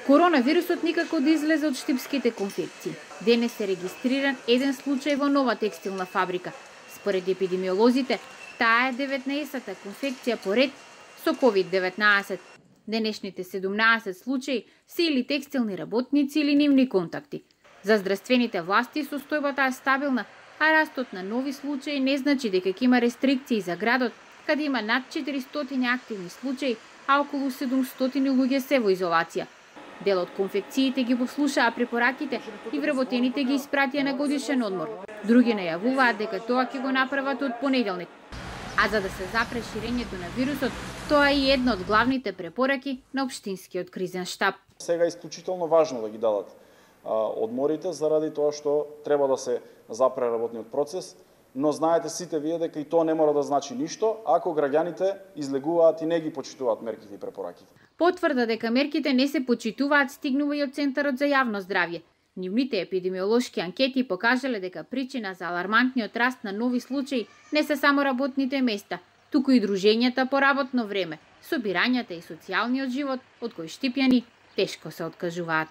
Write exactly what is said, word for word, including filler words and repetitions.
Коронавирусот никако да излезе од штипските конфекции. Денес е регистриран еден случај во нова текстилна фабрика. Според епидемиолозите, таа е деветнаесетта конфекција поред со ковид деветнаесет. Денешните седумнаесет случаи се или текстилни работници или нивни контакти. За здравствените власти состојбата е стабилна, а растот на нови случаи не значи дека ќе има рестрикции за градот, каде има над четиристотини активни случаи, а околу седумстотини луѓе се во изолација. Дел од конфекциите ги послушаа препораките и вработените ги испратија на годишен одмор. Други најавуваат дека тоа ќе го направат од понеделник. А за да се запре ширењето на вирусот, тоа е една од главните препораки на општинскиот кризен штаб. Сега е исклучително важно да ги дадат одморите заради тоа што треба да се запре работниот процес, но знаете сите вие дека и тоа не мора да значи ништо ако граѓаните излегуваат и не ги почитуваат мерките и препораките. Потврда дека мерките не се почитуваат стигнува и од Центарот за јавно здравје. Нивните епидемиолошки анкети покажале дека причина за алармантниот раст на нови случаи не се само работните места, туку и дружењата по работно време, собирањата и социјалниот живот од кои штипјани тешко се откажуваат.